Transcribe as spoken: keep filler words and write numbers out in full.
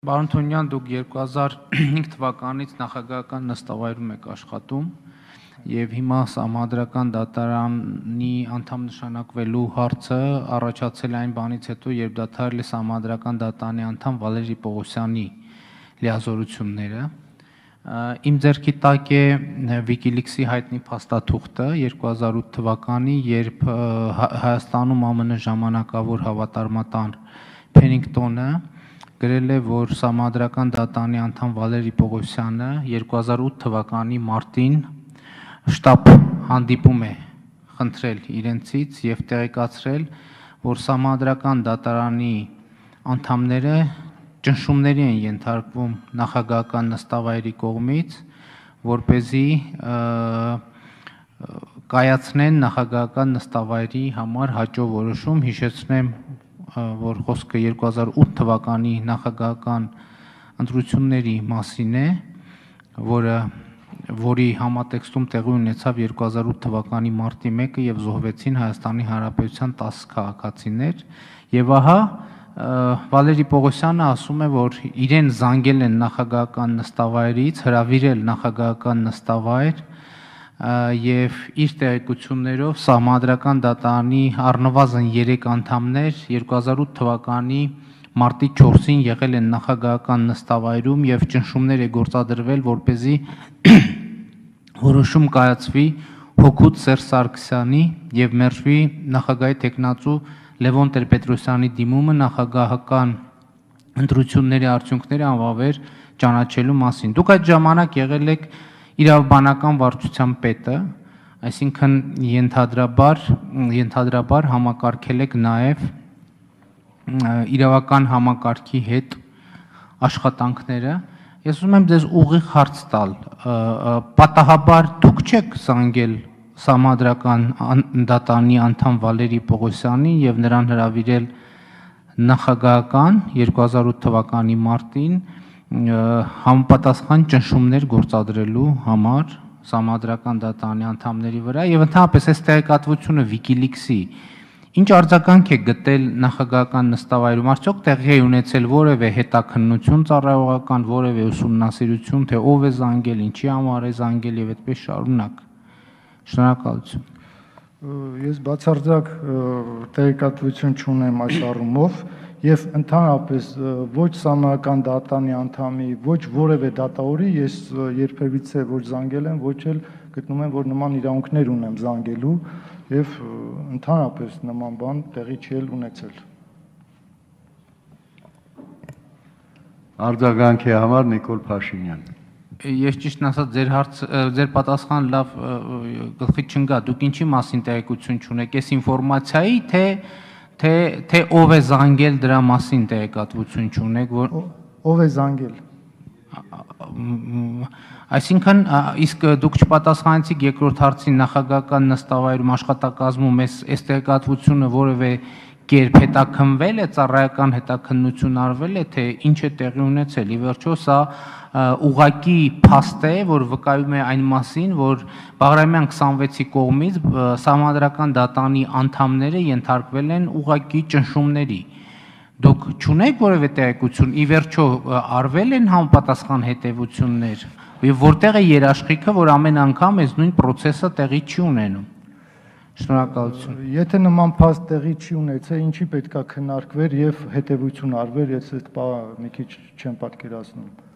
Պարոն Թունյան, դուք երկու հազար հինգ թվականից նախագահական նստավայրում եք աշխատում եւ հիմա Սահմանադրական դատարանի անդամ նշանակվելու հարցը առաջացել այն բանից հետո, երբ դադարել է Սահմանադրական դատարանի անդամ Վալերի Պողոսյանի լիազորությունները։ Իմ ձեռքի տակ է Wikileaks-ի հայտնի փաստաթուղթը երկու հազար ութ թվականի, երբ Հայաստանում ԱՄՆ ժամանակավոր հավատարմատան Փենինգտոնը գրել է, որ Սահմանադրական դատարանի անդամ Վալերի Պողոսյանը երկու հազար ութ թվականի մարտին շտաբ հանդիպում է խնդրել իրենցից եւ տեղեկացրել, որ Սահմանադրական դատարանի անդամները ճնշումների են ենթարկվում նախագահական նստավայրի կողմից, որպեսզի կայացնեն նախագահական նստավայրի համար հաջող որոշում։ Հիշեցնեմ, որ խոսքը երկու հազար ութ թվականի նախագահական ընտրությունների մասին է, որը որի համատեքստում տեղի ունեցավ երկու հազար ութ թվականի մարտի մեկը եւ զոհվեցին Հայաստանի Հանրապետության տասը քաղաքացիներ, եւ ահա Վալերի Պողոսյանը ասում է, որ իրեն զանգել են նախագահական նստավայրից, հրավիրել նախագահական նստավայր եւ իր տեղեկություններով Սահմանադրական դատարանի առնվազն երեք անդամներ երկու հազար ութ թվականի մարտի չորսին եղել են նախագահական նստավայրում եւ ճնշումներ է գործադրվել, որպեսզի որոշում կայացվի հօգուտ Սերժ Սարգսյանի եւ մերժվի նախագահի տեխնացու Լևոն Տեր-Պետրոսյանի դիմումը նախագահական ընտրությունների արդյունքները անվավեր ճանաչելու մասին։ Դուք այդ ժամանակ եղել եք իրավաբանական վարչության պետը, այսինքն ենթադրաբար ենթադրաբար համակարգել եք նաեւ իրավական համակարգի հետ աշխատանքները։ Ես ուզում եմ ձեզ ուղիղ հարց տալ, պատահաբար դուք չեք զանգել Սահմանադրական դատարանի անդամ Վալերի Պողոսյանին եւ նրան հրավիրել նախագահական երկու հազար ութ թվականի մարտին համապատասխան ճնշումներ գործադրելու համար Սահմանադրական դատարանի անդամների վրա եւ ընդհանրապես այս տեղեկատվությունը Wikileaks-ի ինչ արձագանք է գտել նախագահական նստավայրում, արդյոք տեղի է ունեցել որևէ հետաքննություն ծառայողական, որևէ ուսումնասիրություն, թե ով է զանգել, ինչի համար է զանգել եւ այդպես շարունակ։ Շնորհակալություն։ Ես բացարձակ տեղեկատվություն չունեմ այս առումով եւ ընդհանրապես ոչ Սահմանադրական դատարանի անդամի, ոչ որևէ դատավորի ես երբևիցե ոչ զանգել եմ, ոչ էլ գտնում եմ, որ նման իրավունքներ ունեմ զանգելու եւ ընդհանրապես նման բան տեղի չի ունեցել։ Արձագանքի համար Նիկոլ Փաշինյան։ Ես ճիշտն ասած ձեր հարց ձեր պատասխան լավ գլխի չընկա, դուք ինչի մասին տեղեկություն չունեք, այս ինֆորմացիայի, թե թե թե ով է զանգել դրա մասին տեղեկատվություն չունեք, որ ով է զանգել։ Այսինքն իսկ դուք չպատասխանեցիք երկրորդ հարցին նախագահական նստավայրում աշխատակազմում այս այս տեղեկատվությունը որևէ կերպ հետաքննվել է, ծառայական հետաքննություն արվել է, թե ինչ է տեղի ունեցել։ Ի վերջո սա ուղղակի փաստ է, որ վկայում է այն մասին, որ Բաղրամյան քսանվեցի կողմից Սահմանադրական դատարանի անդամները ենթարկվել են ուղղակի ճնշումների։ Դուք չունեք որևէ տեղեկություն, ի վերջո արվել են համապատասխան հետևություններ, եւ որտեղ է երաշխիքը, որ ամեն անգամ այս նույն process-ը տեղի չի ունենում։ Շնորհակալություն։ Եթե նման փաստ տեղի չի ունեցել, ինչի պետքա քննարկվեր եւ հետևություն արվեր, ես այդ բանը մի քիչ չեմ պատկերացնում։